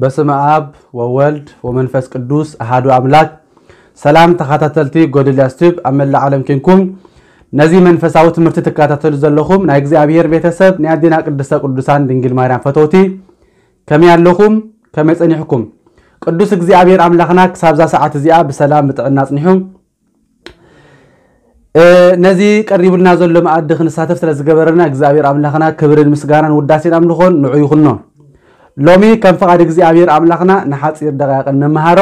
በስመ ኣብ ወወልድ ወመንፈስ ቅዱስ ኣሃዱ ኣምላክ። ሰላም ተኸታተልቲ ጎደልያስ ቲዩብ ኣብ መላእ ዓለም ኬንኩም ነዚ መንፈሳዊ ትምህርቲ ትከታተሉ ዘለኹም ናይ እግዚኣብሔር ቤተሰብ፣ ናይ ኣዴና ቅድስተ ቅዱሳን ድንግል ማርያም ፈተውቲ፣ ከመይ ኣለኹም? ከመይ ጸኒሕኩም? ቅዱስ እግዚኣብሔር ኣምላኽና ክሳብዛ ሰዓት እዚኣ ብሰላም ብጥዕና ኣጽኒሑ ነዚ ቀሪቡልና ዘሎ መኣዲ ክንሳተፍ ስለ ዝገበረና እግዚኣብሔር ኣምላኽና ክብርን ምስጋናን ውዳሴን ኣምልኾን ንዑ ይኹኖ። ሎሚ ከም ፍቓድ እግዚኣብሔር ኣምላኽና ንሓጺር ደቂቕ እንመሃሮ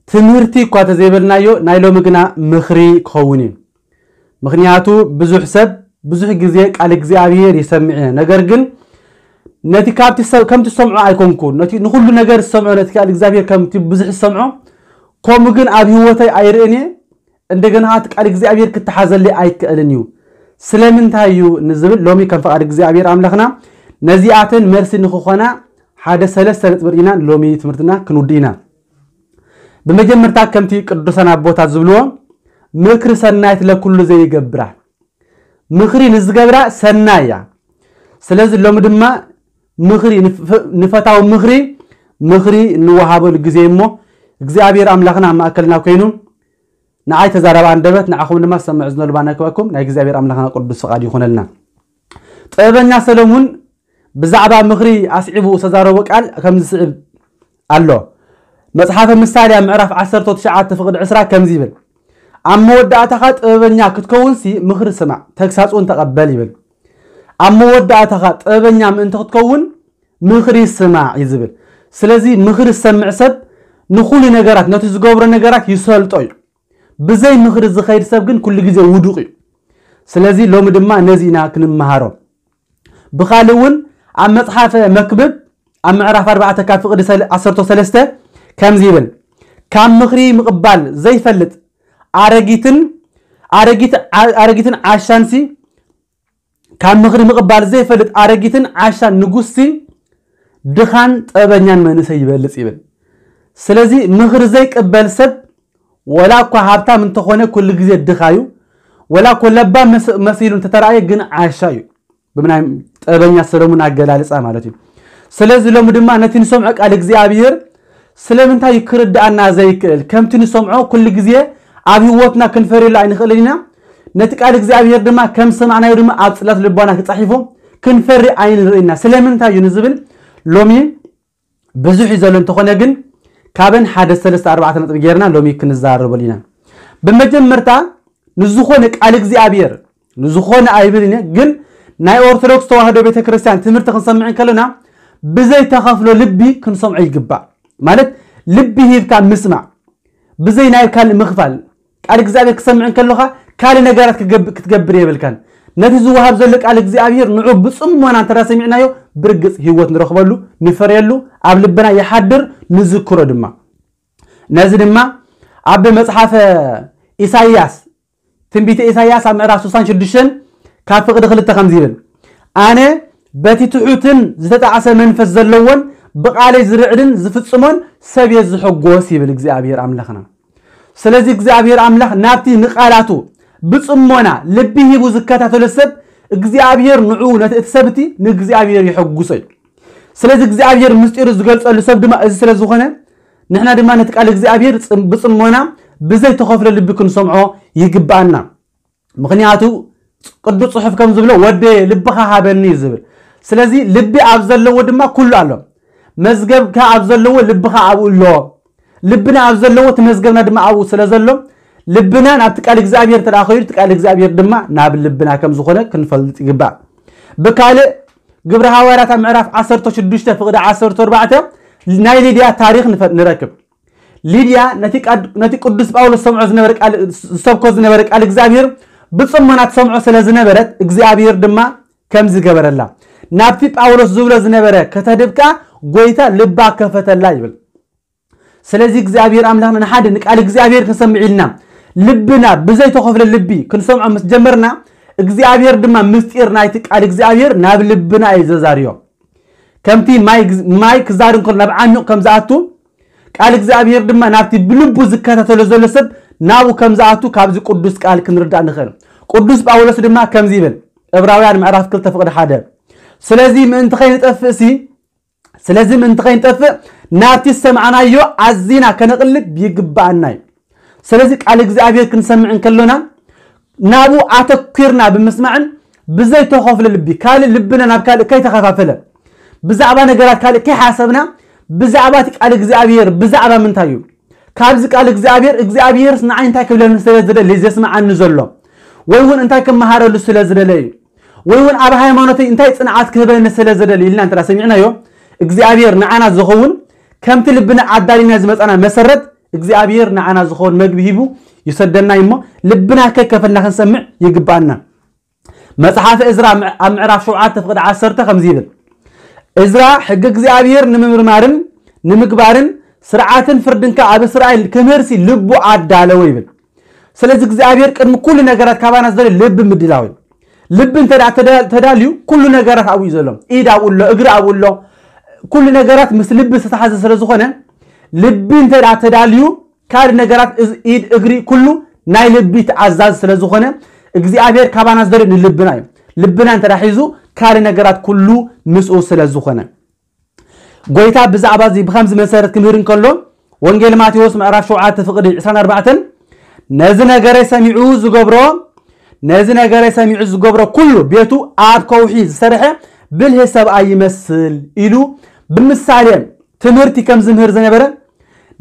ትምህርቲ እኳ ተዘይበልናዮ፣ ናይ ሎሚ ግና ምኽሪ ክኸውን እዩ። ምኽንያቱ ብዙሕ ሰብ ብዙሕ ግዜ ቃል እግዚኣብሔር ይሰምዕ እየ፣ ነገር ግን ነቲ ካብቲ ሰብ ከምቲ ዝሰምዖ ኣይኮንኩን። ነቲ ንኹሉ ነገር ዝሰምዖ፣ ነቲ ቃል እግዚኣብሔር ከምቲ ብዙሕ ዝሰምዖ፣ ከምኡ ግን ኣብ ህይወተይ ኣይርእን እየ። እንደገና እቲ ቃል እግዚኣብሔር ክተሓዘለይ ኣይክእልን እዩ። ስለምንታይ እዩ ንዝብል ሎሚ ከም ፍቓድ እግዚኣብሔር ኣምላኽና ነዚኣተን መልሲ ንክኾና ሓደ ሰለስተ ነጥቢ ርኢና ሎሚ ትምህርትና ክንውድእ ኢና። ብመጀመርታ ከምቲ ቅዱሳን ኣቦታት ዝብልዎ ምክሪ ሰናይት ለኩሉ ዘይገብራ፣ ምኽሪ ንዝገብራ ሰናይ እያ። ስለዚ ሎሚ ድማ ምኽሪ ንፈታዊ ምኽሪ ምኽሪ እንወሃበሉ ግዜ እሞ እግዚኣብሔር ኣምላኽና ኣብ ማእከልና ኮይኑ ንዓይ ተዛራቢ ኣንደበት ንዓኹም ድማ ዝሰምዕ ዝነልባ ናይ ክበኩም ናይ እግዚኣብሔር ኣምላኽና ቅዱስ ፍቓድ ይኹነልና። ጥበበኛ ሰለሙን ብዛዕባ ምኽሪ ኣስዒቡ ዝተዛረቦ ቃል ከምዚ ዝስዕብ ኣሎ። መጽሓፈ ምሳሌ ኣብ ምዕራፍ ዓሰርተ ትሽዓተ ፍቕዲ ዕስራ ከምዚ ይብል፣ ኣብ መወዳእታኻ ጥበበኛ ክትከውንሲ ምኽሪ ስማዕ፣ ተግሳጽ እውን ተቐበል ይብል። ኣብ መወዳእታኻ ጥበበኛ ምእንቲ ክትከውን ምኽሪ ስማዕ እዩ ዝብል። ስለዚ ምኽሪ ዝሰምዕ ሰብ ንኹሉ ነገራት፣ ነቲ ዝገብሮ ነገራት ይሰልጦ እዩ። ብዘይ ምኽሪ ዝኸይድ ሰብ ግን ኩሉ ግዜ ውዱቕ እዩ። ስለዚ ሎሚ ድማ ነዚ ኢና ክንመሃሮ። ብኻልእ እውን ኣብ መጽሓፈ መክብብ ኣብ ምዕራፍ ኣርባዕተ ካብ ፍቕዲ ሰለ- ዓሰርተ ሰለስተ ከምዚ ይብል፣ ካብ ምኽሪ ምቕባል ዘይፈልጥ ኣረጊትን ኣረጊት ዓ- ኣረጊትን ዓሻንሲ ካብ ምኽሪ ምቕባል ዘይፈልጥ ኣረጊትን ዓሻን ንጉስሲ ድኻን ጥበበኛን መንእሰይ ይበልጽ ይብል። ስለዚ ምኽሪ ዘይቅበል ሰብ ወላ እኳ ሃብታም እንተኾነ ኩሉ ግዜ ድኻ እዩ። ወላ እኮ ለባም መስ- መሲሉ እንተተራእየ ግን ዓሻ እዩ። ብናይ ጥበበኛ ሰለሙን ኣገላልጻ ማለት እዩ። ስለዚ ሎሚ ድማ ነቲ ንሰምዖ ቃል እግዚኣብሔር ስለምንታይ ክርድኣና ዘይክእል? ከምቲ ንሰምዖ ኩሉ ግዜ ኣብ ህይወትና ክንፈርየሉ ኣይንኽእልን ኢና። ነቲ ቃል እግዚኣብሔር ድማ ከም ሰማዕናዮ ድማ ኣብ ጽላት ልቦና ክጻሒፎ ክንፈሪ ኣይንርእይና። ስለምንታይ እዩ ንዝብል ሎሚ ብዙሕ እዩ ዘሎ፣ እንተኾነ ግን ካብን ሓደ ሰለስተ ኣርባዕተ ነጥቢ ጌርና ሎሚ ክንዛረበሉ ኢና። ብመጀመርታ ንዝኾነ ቃል እግዚኣብሔር ንዝኾነ ኣይብል እየ፣ ግን ናይ ኦርቶዶክስ ተዋህዶ ቤተክርስትያን ትምህርቲ ክንሰምዕ እንከለና ብዘይ ተኸፍሎ ልቢ ክንሰምዖ ይግባእ። ማለት ልቢ ሂብካ ምስማዕ፣ ብዘይ ናይ ካልእ ምኽፋል። ቃል እግዚኣብሔር ክሰምዕ እንከለኻ ካልእ ነገራት ክገብ- ክትገብር የብልካን። ነቲ ዝወሃብ ዘሎ ቃል እግዚኣብሔር ንዑ ብጽሞና እንተ ሰሚዕናዮ ብርግጽ ህይወት ንረኽበሉ፣ ንፈርየሉ፣ ኣብ ልብና ይሓድር፣ ንዝክሮ ድማ። ነዚ ድማ ኣብ መጽሓፈ ኢሳይያስ ትንቢተ ኢሳይያስ ኣብ ምዕራፍ ስሳን ሽዱሽተን ካብ ፍቕዲ ክልተ ከምዚ ይብል፣ ኣነ በቲ ትሑትን ዝተጣዕሰ መንፈስ ዘለዎን ብቓለይ ዝርዕድን ዝፍጽሞን ሰብ እየ ዝሕጎስ ይብል እግዚኣብሔር ኣምላኽና። ስለዚ እግዚኣብሔር ኣምላኽ ናብቲ ንቓላቱ ብጽሞና ልቢ ሂቡ ዝከታተሎ ሰብ እግዚኣብሔር ንዑ ነቲ እቲ ሰብ እቲ ንእግዚኣብሔር የሐጉሶ እዩ። ስለዚ እግዚኣብሔር ምስጢሩ ዝገልጸሉ ሰብ ድማ እዚ ስለ ዝኾነ ንሕና ድማ ነቲ ቃል እግዚኣብሔር ጽም- ብጽሞና ብዘይተኸፍሎ ልቢ ክንሰምዖ ይግብኣና። ምኽንያቱ ቅዱስ ጽሑፍ ከም ዝብሎ ወደየ ልብኻ ሃበኒ እዩ ዝብል። ስለዚ ልቢ ኣብ ዘለዎ ድማ ኩሉ ኣሎ። መዝገብካ ኣብ ዘለዎ ልብኻ ኣብኡ ኣሎ። ልብና ኣብ ዘለዎ እቲ መዝገብና ድማ ኣብኡ ስለ ዘሎ ልብና ናብቲ ቃል እግዚኣብሔር እንተ ደኣ ኸይዱ እቲ ቃል እግዚኣብሔር ድማ ናብ ልብና ከም ዝኾነ ክንፈልጥ ይግባእ። ብካልእ ግብረ ሃዋርያት ኣብ ምዕራፍ ዓሰርተ ሽዱሽተ ፍቕዲ ዓሰርተ ኣርባዕተ ናይ ሊድያ ታሪኽ ንፈ- ንረክብ። ሊድያ ነቲ ቃድ- ነቲ ቅዱስ ጳውሎስ ዝሰምዖ ዝነበረ ቃል ዝሰብኮ ዝነበረ ቃል እግዚኣብሔር ብጽሞና ትሰምዖ ስለ ዝነበረት እግዚኣብሔር ድማ ከም ዝገበረላ ናብቲ ጳውሎስ ዝብሎ ዝነበረ ከተድብካ ጎይታ ልባ ከፈተላ ይብል። ስለዚ እግዚኣብሔር ኣምላኽና ንሓደ ንቃል እግዚኣብሔር ክንሰምዕ ኢልና ልብና ብዘይተኸፍለ ልቢ ክንሰምዖ ምስ ጀመርና እግዚኣብሔር ድማ ምስጢር ናይቲ ቃል እግዚኣብሔር ናብ ልብና እዩ ዘዛርዮ። ከምቲ ማይ ግዝ- ማይ ክዛር እንከሎ ናብ ዓሚቕ ከም ዝኣቱ ቃል እግዚኣብሔር ድማ ናብቲ ብልቡ ዝከታተሎ ዘሎ ሰብ ናብኡ ከም ዝኣቱ ካብዚ ቅዱስ ቃል ክንርዳእ ንኽእል። ቅዱስ ጳውሎስ ድማ ከምዚ ይብል፣ ዕብራውያን ምዕራፍ ክልተ ፍቕዲ ሓደ፣ ስለዚ ምእንቲ ከይንጠፍእሲ ስለዚ ምእንቲ ከይንጠፍእ ናብቲ ዝሰማዕናዮ ኣዚና ከነቕልብ ይግብኣና እዩ። ስለዚ ቃል እግዚኣብሔር ክንሰምዕ እንከሎና ናብኡ ኣተኲርና ብምስማዕን ብዘይተኸፍለ ልቢ ካልእ ልብና ናብ ካልእ ከይተኸፋፈለ ብዛዕባ ነገራት ካልእ ከይሓሰብና ብዛዕባ እቲ ቃል እግዚኣብሔር ብዛዕባ ምንታይ እዩ? ካብዚ ቃል እግዚኣብሔር እግዚኣብሔርስ ንዓይ እንታይ ክብለኒ ስለ ዝደሊ ዘስምዓኒ ዘሎ ወይ እውን እንታይ ክመሃረሉ ስለ ዝደለ እዩ ወይ እውን ኣብ ሃይማኖተይ እንታይ ጽንዓት ክህበኒ ስለ ዝደሊ ኢልና እንተ ሰሚዕናዮ እግዚኣብሔር ንዓና ዝኸውን ከምቲ ልብና ኣዳሊና ዝመጻና መሰረት እግዚኣብሔር ንዓና ዝኸውን መግቢ ሂቡ ይሰደና እሞ ልብና ከይከፈልና ክንሰምዕ ይግባና። መጽሓፍ እዝራ ኣብ ምዕራፍ ሸውዓተ ፍቕዲ ዓሰርተ ከምዚ ይብል፣ እዝራ ሕጊ እግዚኣብሔር ንምምርማርን ንምግባርን ስርዓትን ፍርድንካ ኣብ እስራኤል ክምህርሲ ልቡ ኣዳለወ ይብል። ስለዚ እግዚኣብሔር ቅድሚ ኩሉ ነገራት ካባና ዝደልዮ ልቢ ምድላው እዩ። ልቢ እንተ ተዳልዩ ኩሉ ነገራት ኣብኡ እዩ ዘሎ። ኢድ ኣብኡ ኣሎ፣ እግሪ ኣብኡ ኣሎ፣ ኩሉ ነገራት ምስ ልቢ ዝተሓዘ ስለ ዝኾነ ልቢ እንተ ተዳልዩ ካልእ ነገራት ኢድ እግሪ ኩሉ ናይ ልቢ ተኣዛዝ ስለ ዝኾነ እግዚኣብሔር ካባና ዝደልዮ ንልብና እዩ። ልብና እንተ ሒዙ ካልእ ነገራት ኩሉ ምስኡ ስለ ዝኾነ ጎይታ ብዛዕባ እዚ ብኸምዚ መሰረት ክምህር እንከሎ ወንጌል ማቴዎስ ምዕራፍ ሸውዓተ ፍቕዲ ዕስራን ኣርባዕተን ነዚ ነገረይ ሰሚዑ ዝገብሮ ነዚ ነገረይ ሰሚዑ ዝገብሮ ኩሉ ቤቱ ኣብ ከውሒ ዝሰርሐ ብልህ ሰብኣይ ይመስል ኢሉ ብምሳሌ ትምህርቲ ከም ዝምህር ዝነበረ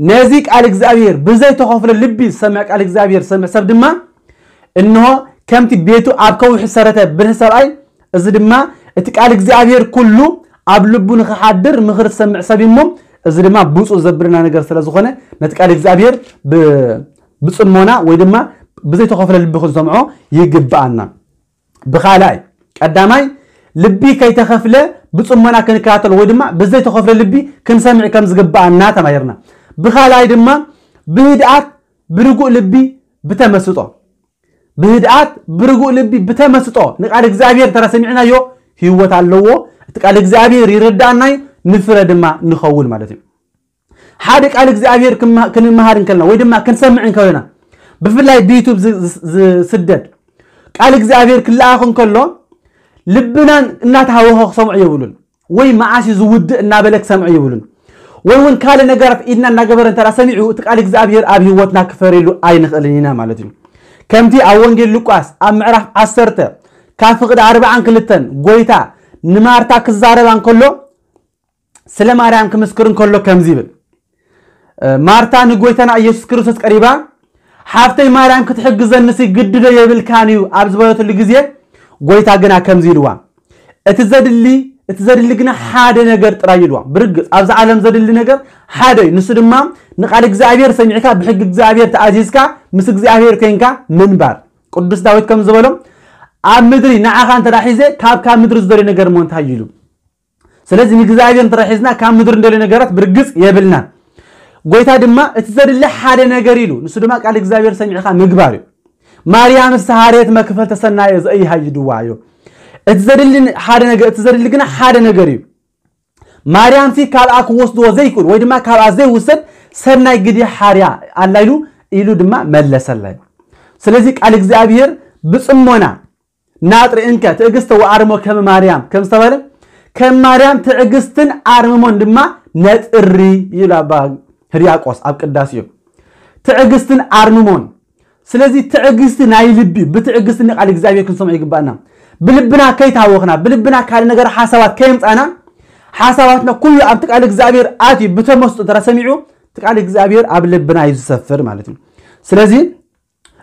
ነዚ ቃል እግዚኣብሔር ብዘይተኸፍለ ልቢ ዝሰምዕ ቃል እግዚኣብሔር ዝሰምዕ ሰብ ድማ እንሆ ከምቲ ቤቱ ኣብ ከውሒ ዝሰረተ ብልህ ሰብኣይ እዚ ድማ እቲ ቃል እግዚኣብሔር ኩሉ ኣብ ልቡ ንክሓድር ምኽሪ ዝሰምዕ ሰብ እሞ እዚ ድማ ብፁዕ ዘብልና ነገር ስለ ዝኾነ ነቲ ቃል እግዚኣብሔር ብጽሞና ወይ ድማ ብዘይተኸፍለ ልቢ ክንሰምዖ ይግብኣና። ብኻልኣይ ቀዳማይ ልቢ ከይተኸፍለ ብጽሞና ክንከታተሎ ወይ ድማ ብዘይተኸፍለ ልቢ ክንሰምዕ ከም ዝግብኣና ተማሂርና። ብኻልኣይ ድማ ብህድኣት ብርጉእ ልቢ ብተመስጦ ብህድኣት ብርጉእ ልቢ ብተመስጦ ንቃል እግዚኣብሔር እንተ ሰሚዕናዮ ህይወት ኣለዎ። እቲ ቃል እግዚኣብሔር ይረዳእናዩ ንፍረ ድማ ንኸውን ማለት እዩ። ሓደ ቃል እግዚኣብሔር ክንመሃር እንከልና ወይ ድማ ክንሰምዕ እንከለና ብፍላይ ብዩቱብ ዝስደድ ቃል እግዚኣብሔር ክለኣኽ እንከሎ ልብናን እናተሃወኸ ክሰምዑ የብሉን። ወይ መዓስ እዩ ዝውድእ እናበለ ክሰምዑ የብሉን። ወይ እውን ካልእ ነገራት ኢድና እናገበረ እንተ ሰሚዑ እቲ ቃል እግዚኣብሔር ኣብ ህይወትና ክፈርየሉ ኣይንኽእልን ኢና ማለት እዩ። ከምቲ ኣብ ወንጌል ሉቃስ ኣብ ምዕራፍ ዓሰርተ ካብ ፍቕዲ ኣርባዓን ክልተን ጎይታ ንማርታ ክዛረባ እንከሎ ስለ ማርያም ክምስክር እንከሎ ከምዚ ይብል። ማርታ ንጎይታና ኢየሱስ ክርስቶስ ቀሪባ ሓፍተይ ማርያም ክትሕግዘንሲ ግድዶ የብልካን እዩ ኣብ ዝበለትሉ ግዜ ጎይታ ግና ከምዚ ኢልዋ እቲ ዘድሊ እቲ ዘድሊ ግና ሓደ ነገር ጥራይ ኢልዋ። ብርግጽ ኣብዚ ዓለም ዘድሊ ነገር ሓደ እዩ። ንሱ ድማ ንቃል እግዚኣብሔር ሰሚዕካ ብሕጊ እግዚኣብሔር ተኣዚዝካ ምስ እግዚኣብሔር ኮይንካ ምንባር። ቅዱስ ዳዊት ከም ዝበሎ ኣብ ምድሪ ንዓኻ እንተ ሒዘ ካብ ካብ ምድሪ ዝደልዮ ነገር እሞ እንታይ ኢሉ ስለዚ ንእግዚኣብሔር እንተ ሒዝና ካብ ምድሪ እንደልዮ ነገራት ብርግጽ የብልና። ጎይታ ድማ እቲ ዘድሊ ሓደ ነገር ኢሉ ንሱ ድማ ቃል እግዚኣብሔር ሰሚዕኻ ምግባር እዩ። ማርያም ስተሃርየት መክፈል ተሰናየ ዘእይሃይድዋ እዩ። እቲ ዘድሊ ሓደ ነገር እቲ ዘድሊ ግና ሓደ ነገር እዩ። ማርያም ሲ ካብኣ ክወስድዎ ዘይክእል ወይ ድማ ካብኣ ዘይውሰድ ሰናይ ግዲ ሓርያ ኣላ ኢሉ ኢሉ ድማ መለሰላ። ስለዚ ቃል እግዚኣብሔር ብጽሞና ናጥሪ እንከ ትዕግስተ ወኣርሞ ከመ ማርያም ከም ዝተባለ ከም ማርያም ትዕግስትን ኣርምሞን ድማ ነጥሪ ይብል ኣባ ህርያቆስ ኣብ ቅዳሴኡ። ትዕግስትን ኣርምሞን። ስለዚ ትዕግስቲ ናይ ልቢ ብትዕግስቲ ንቃል እግዚኣብሔር ክንሰምዖ ይግባእና። ብልብና ከይታወኽና ብልብና ካልእ ነገር ሓሳባት ከየምፃና ሓሳባትና ኩሉ ኣብቲ ቃል እግዚኣብሔር ኣትዩ ብተመስጦ እንተ ሰሚዑ እቲ ቃል እግዚኣብሔር ኣብ ልብና እዩ ዝሰፍር ማለት እዩ። ስለዚ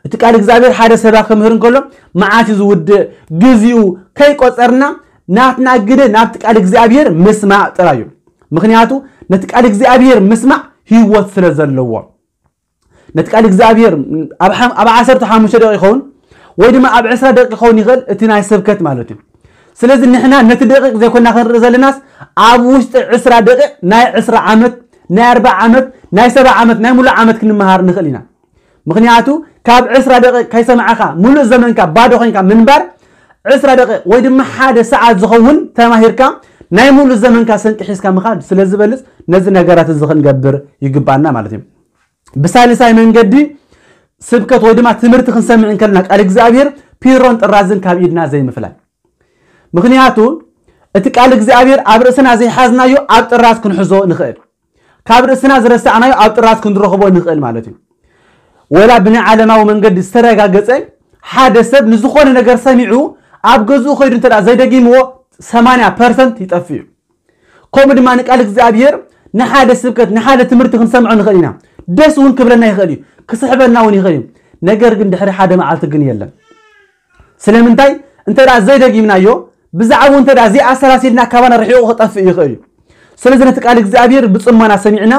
እቲ ቃል እግዚኣብሔር ሓደ ሰባ ክምህር እንከሎ መዓት እዩ ዝውድእ ግዜኡ ከይቆፀርና ናትና ግደ ናብቲ ቃል እግዚኣብሔር ምስማዕ ጥራይ እዩ። ምክንያቱ ነቲ ቃል እግዚኣብሔር ምስማዕ ህይወት ስለ ዘለዎ ነቲ ቃል እግዚኣብሔር ኣብ ዓሰርተ ሓሙሽተ ደቂቕ ይኸውን ወይ ድማ ኣብ ዕስራ ደቂቕ ይኸውን ይኽእል እቲ ናይ ስብከት ማለት እዩ። ስለዚ ንሕና ነቲ ደቂቕ ዘይኮና ክንርኢ ዘለናስ ኣብ ውሽጢ ዕስራ ደቂቕ ናይ ዕስራ ዓመት ናይ ኣርባዓ ዓመት ናይ ሰባ ዓመት ናይ ሙሉእ ዓመት ክንመሃር ንኽእል ኢና። ምኽንያቱ ካብ ዕስራ ደቂቕ ከይሰማዕኻ ሙሉእ ዘመንካ ባዶ ኮይንካ ምንባር ዕስራ ደቂቕ ወይ ድማ ሓደ ሰዓት ዝኸውን ተማሂርካ ናይ ሙሉእ ዘመንካ ስንቂ ሒዝካ ምኻድ ስለ ዝበልፅ ነዚ ነገራት እዚ ክንገብር ይግባና ማለት እዩ። ብሳልሳይ መንገዲ ስብከት ወይ ድማ ትምህርቲ ክንሰምዕ እንከልና ቃል እግዚኣብሔር ፒሮን ጥራዝን ካብ ኢድና ዘይምፍላይ። ምኽንያቱ እቲ ቃል እግዚኣብሔር ኣብ ርእስና ዘይሓዝናዮ ኣብ ጥራዝ ክንሕዞ ንኽእል። ካብ ርእስና ዝረሳዕናዮ ኣብ ጥራዝ ክንረኽቦ ንኽእል ማለት እዩ። ወላ ብናይ ዓለማዊ መንገዲ ዝተረጋገጸ ሓደ ሰብ ንዝኾነ ነገር ሰሚዑ ኣብ ገዝኡ ከይዱ እንተ ደኣ ዘይደጊምዎ ሰማንያ ፐርሰንት ይጠፍእ እዩ። ከምኡ ድማ ንቃል እግዚኣብሔር ንሓደ ስብከት ንሓደ ትምህርቲ ክንሰምዖ ንኽእል ኢና። ደስ እውን ክብለና ይኽእል እዩ፣ ክስሕበና እውን ይኽእል እዩ። ነገር ግን ድሕሪ ሓደ መዓልቲ ግን የለን። ስለምንታይ? እንተ ደኣ ዘይደጊምናዮ፣ ብዛዕባኡ እንተ ደኣ ዘይኣሰላሲልና ካባና ርሒቑ ክጠፍእ ይኽእል እዩ። ስለዚ ነቲ ቃል እግዚኣብሔር ብጽሞና ሰሚዕና፣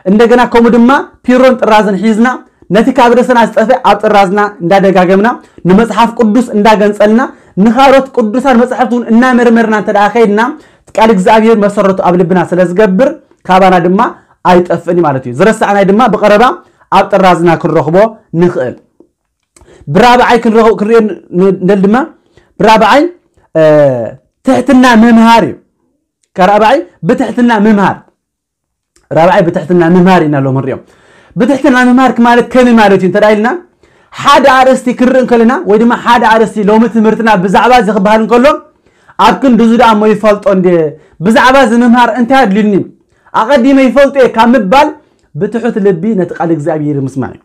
እንደገና ከምኡ ድማ ፒሮን ጥራዝን ሒዝና፣ ነቲ ካብ ርእስና ዝጠፍእ ኣብ ጥራዝና እንዳደጋገምና፣ ንመጽሓፍ ቅዱስ እንዳገንጸልና፣ ንኻልኦት ቅዱሳን መጻሕፍቲ እውን እናመርመርና እንተ ደኣ ከይድና፣ ቃል እግዚኣብሔር መሰረቱ ኣብ ልብና ስለ ዝገብር፣ ካባና ድማ ኣይጠፍእን እዩ ማለት እዩ። ዝረሳዕናይ ድማ ብቐረባ ኣብ ጥራዝና ክንረኽቦ ንኽእል። ብራብዓይ ክንረኽቦ፣ ክንሪኦ ን-፣ ንደል ድማ፣ ብራብዓይ፣ እ፣ ትሕትና ምምሃር እዩ። ከራብዓይ ብትሕትና ምምሃር። ራብዓይ ብትሕትና ምምሃር ኢና ሎም ንሪኦ። ብትሕትና ምምሃር ማለት ከመይ ማለት እዩ እንተ ደኣ ኢልና፣ ሓደ ኣርእስቲ ክርኢ እንከለና፣ ወይ ድማ ሓደ ኣርእስቲ ሎሚ ትምህርትና ብዛዕባ እዚ ክበሃል እንከሎ፣ ኣብ ክንዲ እዚ ደኣ እሞ ይፈልጦ እንደ፣ ብዛዕባ እዚ ምምሃር እንታይ ኣድልዩኒ? ኣቐዲመ ይፈልጦ እየ ካብ ምባል፣ ብትሑት ልቢ ነቲ ቃል እግዚኣብሔር ምስማዕ እዩ።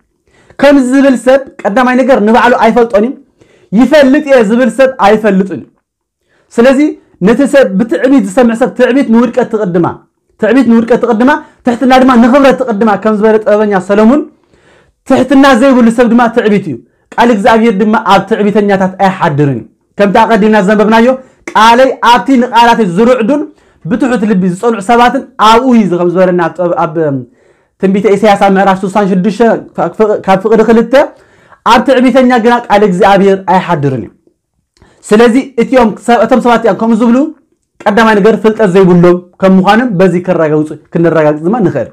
ከምዚ ዝብል ሰብ ቀዳማይ ነገር ንባዕሉ ኣይፈልጦን እዩ። ይፈልጥ እየ ዝብል ሰብ ኣይፈልጥን እዩ። ስለዚ ነቲ ሰብ ብትዕቢት ዝሰምዕ ሰብ ትዕቢት ንውድቀት ትቕድማ፣ ትዕቢት ንውድቀት ትቕድማ፣ ትሕትና ድማ ንኽብረት ትቕድማ፣ ከም ዝበለ ጥበበኛ ሰለሙን፣ ትሕትና ዘይብሉ ሰብ ድማ ትዕቢት እዩ፣ ቃል እግዚኣብሔር ድማ ኣብ ትዕቢተኛታት ኣይሓድርን እዩ። ከምቲ ኣቐዲምና ዘንበብናዮ፣ ቃለይ ኣብቲ ንቓላተይ ዝርዕዱን ብትሑት ልቢ ዝጸንዑ ሰባትን ኣብኡ እዩ፣ ከም ዝበለና ኣብ ጥበብ-፣ ኣብ ትንቢተ ኢሳያስ ኣብ ምዕራፍ ስሳን ሽዱሽተ ካብ ፍቕ-፣ ካብ ፍቕዲ ክልተ፣ ኣብ ትዕቢተኛ ግና ቃል እግዚኣብሔር ኣይሓድርን እዩ። ስለዚ እቲኦም ሰ-፣ እቶም ሰባት እዚኦም ከምኡ ዝብሉ ቀዳማይ ነገር ፍልጠት ዘይብሎም ከም ምዃኖም በዚ ከረጋግጹ፣ ክንረጋግጽ ድማ ንኽእል።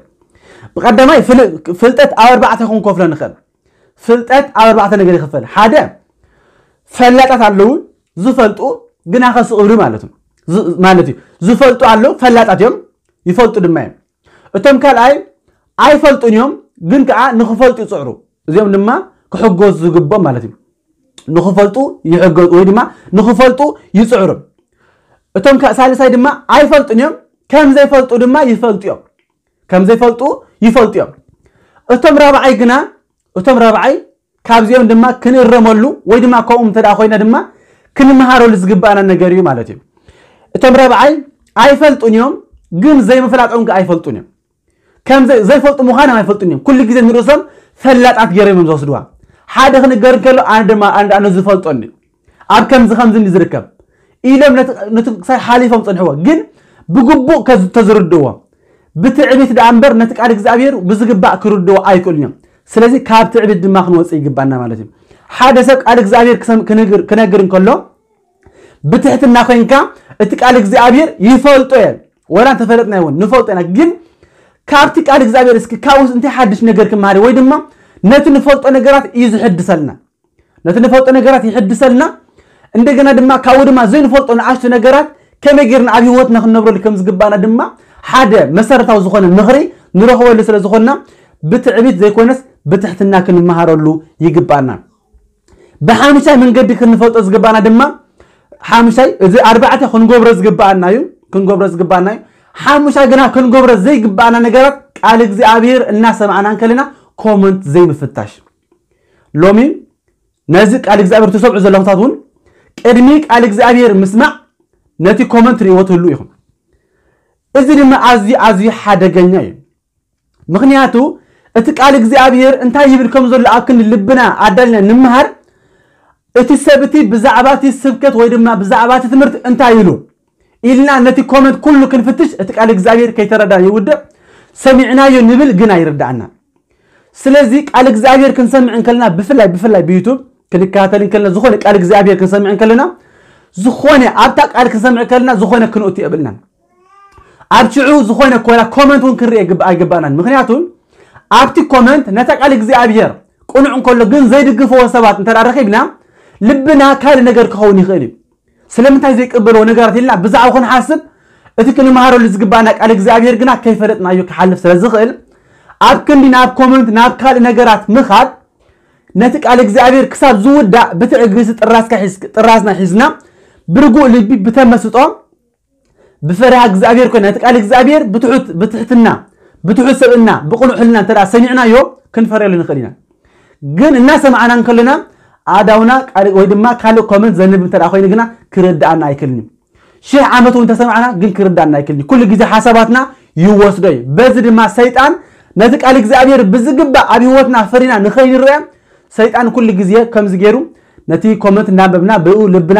ብቐዳማይ ፍል-፣ ፍልጠት ኣብ ኣርባዕተ ክንከፍሎ ንኽእል። ፍልጠት ኣብ ኣርባዕተ ነገር ይኽፈል። ሓደ፣ ፈላጣት ኣለዉ፣ ዝፈልጡ ግና ከስቕብሉ ማለት እዩ። ዝ-፣ ማለት እዩ። ዝፈልጡ ኣለዉ፣ ፈላጣት እዮም፣ ይፈልጡ ድማ እዮም። እቶም ካልኣይ ኣይፈልጡን እዮም፣ ግን ከዓ ንኽፈልጡ ይጽዕሩ። እዚኦም ድማ ክሕገዙ ዝግብኦም ማለት እዩ። ንኽፈልጡ ይሕገዙ ወይ ድማ ንኽፈልጡ ይጽዕሩ። እቶም ካ-፣ ሳልሳይ ድማ ኣይፈልጡን እዮም፣ ከም ዘይፈልጡ ድማ ይፈልጡ እዮም። ከም ዘይፈልጡ ይፈልጡ እዮም። እቶም ራብዓይ ግና፣ እቶም ራብዓይ ካብዚኦም ድማ ክንእረመሉ ወይ ድማ ከምኡ እንተ ደኣ ኮይና ድማ ክንመሃረሉ ዝግባኣና ነገር እዩ ማለት እዩ። እቶም ራብዓይ ኣይፈልጡን እዮም፣ ግን ዘይምፍላጦም ከ ኣይፈልጡን እዮም። ከም ዘይ-፣ ዘይፈልጡ ምዃኖም ኣይፈልጡን እዮም። ኩሉ ግዜ ንርእሶም ፈላጣት ገይሮም እዮም ዝወስድዋ። ሓደ ክንገር እንከሎ፣ ኣነ ድማ፣ ኣነ፣ ኣነ ዝፈልጦኒ ኣብ ከምዚ ከምዚ እንዲ ዝርከብ ኢሎም ነቲ፣ ነቲ ክሳይ ሓሊፎም ጸንሕዎ። ግን ብግቡእ ከዝ-፣ ተዝርድእዎ፣ ብትዕቢት ደኣ እምበር ነቲ ቃል እግዚኣብሔር ብዝግባእ ክርድዎ ኣይክእሉን እዮም። ስለዚ ካብ ትዕቢት ድማ ክንወጽእ ይግባና ማለት እዩ። ሓደ ሰብ ቃል እግዚኣብሔር ክሰም-፣ ክነግር፣ ክነግር እንከሎ ብትሕትና ኮይንካ እቲ ቃል እግዚኣብሔር ይፈልጦ እየ፣ ወላ እንተፈለጥና ይውን ንፈልጦ ኢና። ግን ካብቲ ቃል እግዚኣብሔር እስኪ ካብኡስ እንታይ ሓድሽ ነገር ክመሃር ወይ ድማ ነቲ ንፈልጦ ነገራት እዩ ዝሕድሰልና። ነቲ ንፈልጦ ነገራት ይሕድሰልና። እንደገና ድማ ካብኡ ድማ ዘይንፈልጦ ንኣሽቱ ነገራት ከመይ ጌርና ኣብ ህይወትና ክንነብረሉ ከም ዝግባና ድማ ሓደ መሰረታዊ ዝኾነ ምኽሪ ንረኽበሉ ስለ ዝኾንና ብትዕቢት ዘይኮነስ ብትሕትና ክንመሃረሉ ይግባና። ብሓሙሻይ መንገዲ ክንፈልጦ ዝግባና ድማ ሓሙሻይ፣ እዚ ኣርባዕተ ክንገብሮ ዝግባኣና እዩ፣ ክንገብሮ ዝግባኣና እዩ። ሓሙሻይ ግና ክንገብሮ ዘይግባኣና ነገራት ቃል እግዚኣብሔር እናሰማዕና እንከለና ኮመንት ዘይምፍታሽ። ሎሚ ነዚ ቃል እግዚኣብሔር ትሰምዑ ዘለኹም ሰባት እውን ቅድሚ ቃል እግዚኣብሔር ምስማዕ ነቲ ኮመንት ርእይዎ ትህሉ ኢኹም። እዚ ድማ ኣዝዩ፣ ኣዝዩ ሓደገኛ እዩ። ምኽንያቱ እቲ ቃል እግዚኣብሔር እንታይ ይብል ከም ዘሎ ኣብ ክንዲ ልብና ኣዳልና ንምሃር፣ እቲ ሰብ እቲ ብዛዕባ እቲ ስብከት ወይ ድማ ብዛዕባ እቲ ትምህርቲ እንታይ ኢሉ ኢልና ነቲ ኮመንት ኩሉ ክንፍትሽ፣ እቲ ቃል እግዚኣብሔር ከይተረዳ ይውድቕ። ሰሚዕናዮ ንብል ግን ኣይርድኣና። ስለዚ ቃል እግዚኣብሔር ክንሰምዕ እንከለና፣ ብፍላይ፣ ብፍላይ ብዩቱብ ክንከታተል እንከለና፣ ዝኾነ ቃል እግዚኣብሔር ክንሰምዕ እንከለና፣ ዝኾነ ኣብታ ቃል ክንሰምዕ እንከለና፣ ዝኾነ ክንእቱ የብልናን። ኣብ ሽዑ ዝኾነ ኮላ ኮመንት እውን ክንርኢ ግብ-፣ ኣይግባእናን። ምኽንያቱ ኣብቲ ኮመንት ነታ ቃል እግዚኣብሔር ቅኑዕ እንከሎ ግን ዘይድግፍዎ ሰባት እንተ ደኣ ረኺብና፣ ልብና ካልእ ነገር ክኸውን ይኽእል እዩ። ስለምንታይ ዘይቅበልዎ ነገራት ኢልና ብዛዕባ ክንሓስብ፣ እቲ ክንመሃረሉ ዝግባእና ቃል እግዚኣብሔር ግና ከይፈለጥናዮ ክሓልፍ ስለ ዝኽእል፣ ኣብ ክንዲ ናብ ኮመንት፣ ናብ ካልእ ነገራት ምኻድ፣ ነቲ ቃል እግዚኣብሔር ክሳብ ዝውዳእ ብትዕግስቲ ጥራዝካ ሒዝ-፣ ጥራዝና ሒዝና፣ ብርጉእ ልቢ፣ ብተመስጦ፣ ብፈሪሃ እግዚኣብሔር ኮይና ነቲ ቃል እግዚኣብሔር ብትሑት ብትሕትና ብትሑት ሰብእና ብቕኑዕ ሕልና እንተ ደኣ ሰሚዕናዮ ክንፈርየሉ ንኽእል ኢና። ግን እናሰማዕና እንከለና ኣእዳውና ቃል ወይ ድማ ካልእ ኮመንት ዘንብብ እንተ ደኣ ኮይኑ ግና ክርድኣና ኣይክእልን እዩ። ሽሕ ዓመት እውን ተሰማዕና ግን ክርዳና ኣይክልኒ። ኩሉ ግዜ ሓሳባትና ይወስዶ እዩ። በዚ ድማ ሰይጣን ነቲ ቃል እግዚኣብሔር ብዝግባእ ኣብ ህይወትና ፈሪና ንኸይንረአ ሰይጣን ኩሉ ግዜ ከምዚ ገይሩ ነቲ ኮመንት እናንበብና ብኡ ልብና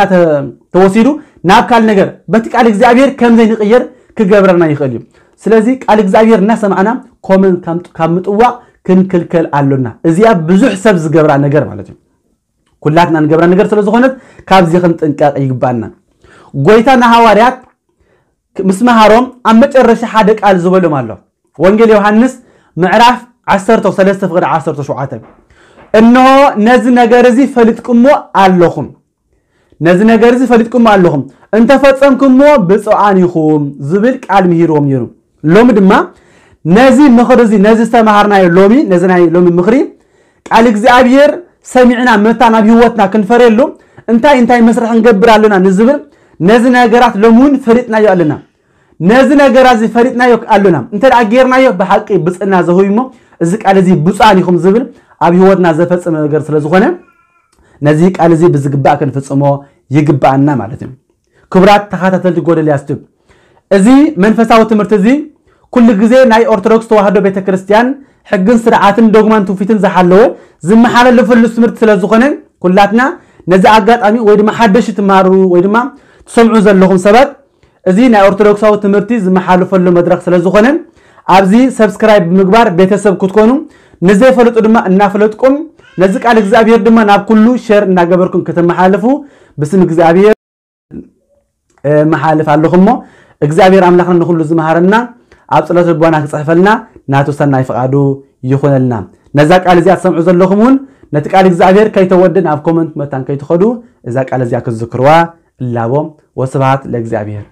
ተወሲዱ ናብ ካል ነገር በቲ ቃል እግዚኣብሔር ከምዘይ ንቕየር ክገብረና ይኽእል እዩ። ስለዚ ቃል እግዚኣብሔር እናሰማዕና ኮመንት ካብ ምጥዋቕ ክንክልከል ኣሎና። እዚኣ ብዙሕ ሰብ ዝገብራ ነገር ማለት እዩ። ኩላትና ንገብራ ነገር ስለ ዝኾነት ካብዚ ክንጥንቀቕ ይግባና። ጎይታ ንሃዋርያት ምስ መሃሮም ኣብ መጨረሻ ሓደ ቃል ዝበሎም ኣሎ። ወንጌል ዮሃንስ ምዕራፍ ዓሰርተ ሰለስተ ፍቕዲ ዓሰርተ ሸውዓተ፣ "እንሆ ነዚ ነገር እዚ ፈሊጥኩሞ ኣለኹም፣ ነዚ ነገር እዚ ፈሊጥኩሞ ኣለኹም፣ እንተፈጸምኩሞ ብፁዓን ኢኹም" ዝብል ቃል ምሂርዎም ነይሩ። ሎሚ ድማ ነዚ ምኽሪ እዚ፣ ነዚ ዝተምሃርናዮ ሎሚ፣ ነዚ ናይ ሎሚ ምኽሪ ቃል እግዚኣብሔር ሰሚዕና መታ ናብ ህይወትና ክንፈርየሉ እንታይ እንታይ መስርሕ ክንገብር ኣለና ንዝብል ነዚ ነገራት ሎሚ እውን ፈሊጥናዮ ኣለና። ነዚ ነገራ እዚ ፈሊጥናዮ ኣለና እንተ ደኣ ጌርናዮ ብሓቂ ብፅና ዘህዊ እሞ እዚ ቃል እዚ ብፁዓን ኢኹም ዝብል ኣብ ህይወትና ዘፈፅም ነገር ስለ ዝኾነ ነዚ ቃል እዚ ብዝግባእ ክንፍፅሞ ይግባኣና ማለት እዩ። ክቡራት ተኸታተልቲ ጎደልያስ ቱብ፣ እዚ መንፈሳዊ ትምህርቲ እዚ ኩሉ ግዜ ናይ ኦርቶዶክስ ተዋህዶ ቤተክርስትያን ሕግን ስርዓትን ዶግማን ትውፊትን ዝሓለወ ዝመሓላለፈሉ ትምህርቲ ስለ ዝኾነ ኩላትና ነዚ ኣጋጣሚ ወይ ድማ ሓደሽ ትማሩ ወይ ድማ ትሰምዑ ዘለኹም ሰባት እዚ ናይ ኦርቶዶክሳዊ ትምህርቲ ዝመሓለፈሉ መድረኽ ስለ ዝኾነ ኣብዚ ሰብስክራይብ ብምግባር ቤተሰብ ክትኮኑ ንዘይፈልጡ ድማ እናፈለጥኩም ነዚ ቃል እግዚኣብሔር ድማ ናብ ኩሉ ሸር እናገበርኩም ከተመሓልፉ ብስም እግዚኣብሔር መሓልፍ ኣለኹ እሞ እግዚኣብሔር ኣምላኽና ንኹሉ ዝመሃረና ኣብ ጸሎት ልቦና ክጽሕፈልና ናቱ ሰናይ ፍቓዱ ይኹነልና። ነዛ ቃል እዚኣ ትሰምዑ ዘለኹም እውን ነቲ ቃል እግዚኣብሔር ከይተወድን ኣብ ኮመንት መታን ከይትኸዱ እዛ ቃል እዚኣ ክትዝክርዋ እላቦ። ወስብሃት ለእግዚኣብሔር።